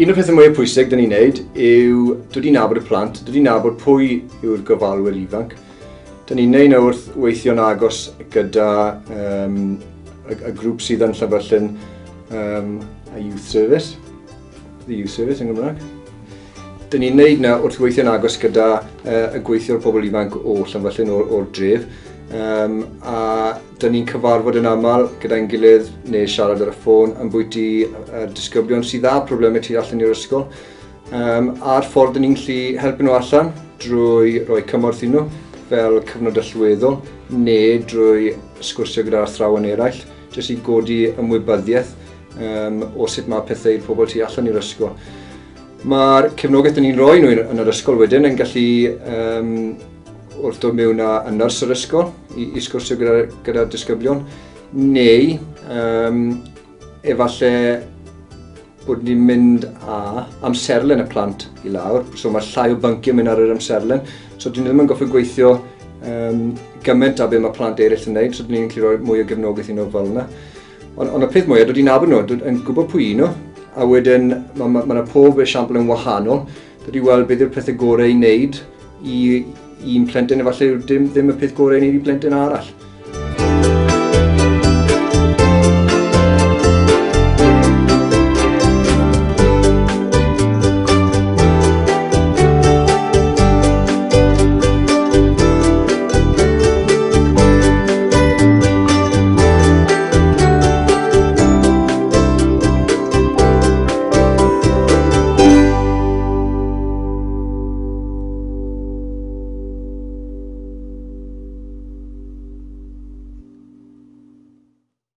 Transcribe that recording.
Un o'r pethau mwyaf pwysig dyn ni'n neud yw dod i nabod y plant, dod i nabod pwy yw'r gofalwyr ifanc. Dyn ni'n neud nhw wrth weithio'n agos gyda y grŵp sydd yn Llanfyllin, y Youth Service, the Youth Service yn Gymraeg. Dyn ni'n neud na wrth weithio'n agos gyda y gweithiwr pobl ifanc o Llanfyllin o'r dref, a dyn ni'n cyfarfod yn aml gyda'n gilydd neu siarad ar y ffôn ambwyty y disgyblion sydd â problemau tu allan i'r ysgol, a'r ffordd dyn ni'n gallu helpu nhw allan drwy roi cymorth i nhw fel cyfnod allweddol neu drwy sgwrsio gyda'r athrawon eraill, jyst i godi ymwybyddiaeth o sut mae pethau i'r pobl tu allan i'r ysgol. Mae'r cefnogaeth dyn ni'n rhoi nhw yn yr ysgol wedyn yn gallu wrth dod mewn â y nyrs yr ysgol i sgwrsio gyda disgyblion, neu efallai bod ni'n mynd â amserlen y plant i lawr, so mae llai o bynciau mynd ar yr amserlen, so dyn ni ddim yn gorfod gweithio gymaint â be mae plant eraill yn gwneud, so dyn ni'n gallu rhoi mwy o gefnogaeth i nhw fel yna. Ond y peth mwyaf, dod i nabod nhw, dod yn gwybod pwy nhw, a wedyn mae ma pob esiampl yn wahanol, dod i weld beth yw'r pethau gorau i wneud i un plentyn, efallai yw ddim y peth gorau i wneud i plentyn arall.